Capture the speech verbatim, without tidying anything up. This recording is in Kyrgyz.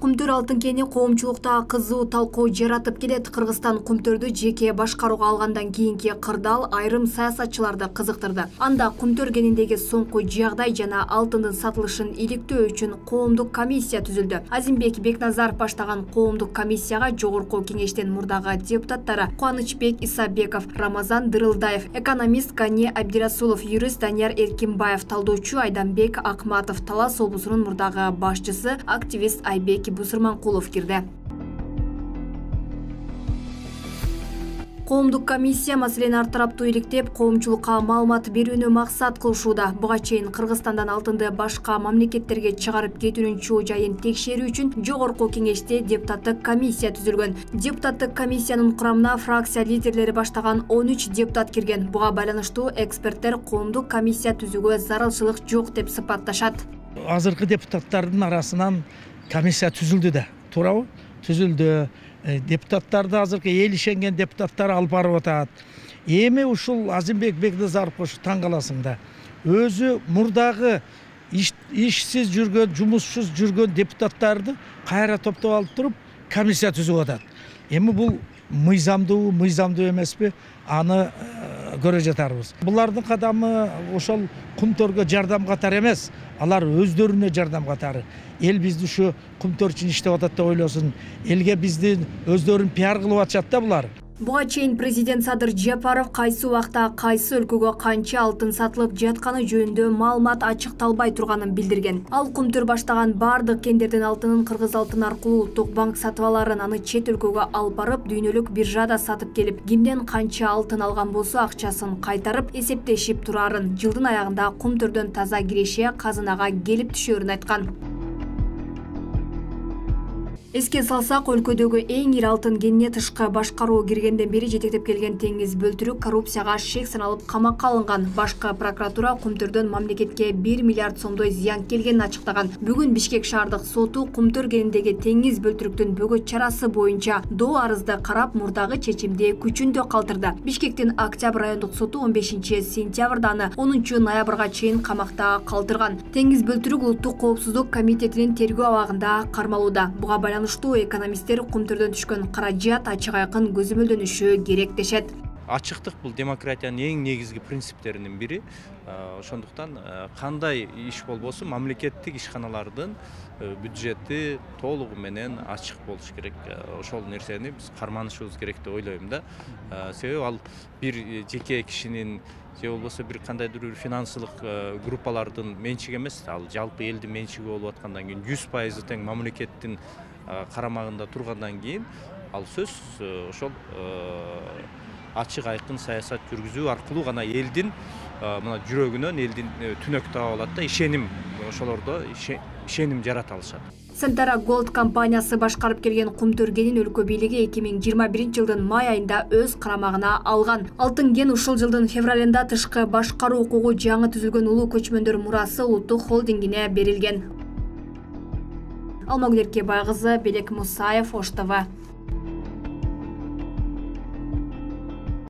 Кумтөр алтын кени коомчулукта кызуу талкуу жаратып келет. Кыргызстан Кумтөрдү жеке башкарууга алгандан кийинки кырдаал айрым саясатчыларды кызыктырды. Анда Кумтөр кениндеги соңку жагдай жана алтындын сатылышын иликтөө үчүн коомдук комиссия түзүлдү. Азимбек Бекназаров баштаган коомдук комиссияга жогорку кеңештин мурдагы депутаттары Кубанычбек Исабеков, Рамазан Дырылдаев, экономист Гане Абдирасулов, юрист Данияр Эркинбаев, талдоочу Айданбек Акматов, Талас облусунун мурдагы башчысы активист Айбек Бусурманкулов кирди. Коомдук комиссия маселени ар тараптуу иликтеп, коомчулукка маалымат берүүнү максат кылышууда. Буга чейин Кыргызстандан алтынды башка мамлекеттерге чыгарып кетүүнүн чоо жайын текшерүү үчүн жогорку кеңеште депутаттык комиссия түзүлгөн. Депутаттык комиссиянын курамына фракция лидерлери баштаган он үч депутат кирген. Буга байланыштуу эксперттер коомдук комиссия түзүүгө зарылчылык жок деп сыпатташат. Азыркы депутаттардын арасынан комиссия түзүлдү да, туурабы? Түзүлдү. Депутаттарды азыркы эл ишенген депутаттар алып барып атат. Эми ушул Азимбек Бекназаров ушу таң каласың да. Өзү мурдагы ишсиз жүргөн, жумушсуз жүргөн депутаттарды кайра топтоп алып туруп комиссия түзүп атат. Эми бул мыйзамдуу, мыйзамдуу эмеспи? Аны көрө жатарбыз. Булардын кадамы ошол Кумтөргө жардам катары эмес, алар өздөрүнө жардам катары. Эл бизди ушу Кумтөр үчүн иштеп атат деп ойлосун. Элге бизди өздөрүн пиар кылып атышат да булар. Буга чейин президент Садыр Жапаров кайсы убакта кайсы өлкөгө канча алтын сатылып жатканы жөнүндө маалымат ачыкталбай турганын билдирген. Ал Кумтөр баштаган бардык кендердин алтынын Кыргыз алтын аркылуу Улуттук банк сатып аларын, аны чет өлкөгө алып барып, дүйнөлүк биржада сатып келип, кимден канча алтын алган болсо акчасын кайтарып эсептешип турарын, жылдын аягында Кумтөрдөн таза киреше казынага келип түшөрүн айткан. Эске салсак, өлкөдөгү эң ири алтын кенине тышкы башкаруу киргенден бери жетектеп келген Теңиз Бөлтүрүк коррупцияга шек саналып камакка алынган. Башкы прокуратура Кумтөрдөн мамлекетке бир миллиард сомдой зыян келгенин ачыктаган. Бүгүн Бишкек шаардык соту Кумтөр кениндеги Теңиз Бөлтүрүктүн бөгөт чарасы боюнча доо арызды карап, мурдагы чечимди күчүндө калтырды. Бишкектин Октябрь райондук соту он бешинчи сентябрда аны онунчу ноябрга чейин камакта калтырган. Теңиз Бөлтүрүк Улуттук коопсуздук комитетинин тергөө абагында кармалууда. Буга экономисттер Кумтөрдөн түшкөн каражат ачык айкын көзөмөлдөнүшү керек дешет. Ачыктык бул демократиянын эң негизги принциптеринин бири. Ошондуктан кандай иш болбосун мамлекеттик ишканалардын бюджети толугу менен ачык болуш керек. Ошол нерсени биз карманышыбыз керек деп ойлойм да. Себеби ал бир жеке кишинин же болбосо бир кандайдыр бир финансылык группалардын менчиги эмес, ал жалпы элдин менчиги болуп аткандан кийин жүз пайыз тең мамлекеттин карамагында тургандан кийин ал сөз ошол ачык айкын саясат жүргүзүү аркылуу гана элдин мына жүрөгүнөн элдин түнөк таап алат да, ишеним, ошолордо ишеним жарата алышат. Сентара Gold компаниясы башкарып келген Кумтөр кенин өлкө бийлиги эки миң жыйырма биринчи жылдын май айында өз карамагына алган. Алтын кен ушул жылдын февралында тышкы башкаруу укугу жаңы түзүлгөн улуу көчмөндөр мурасы улуттук холдингине берилген. Алмагүл Эркебай кызы, Белек Мусаев, Ош Т В.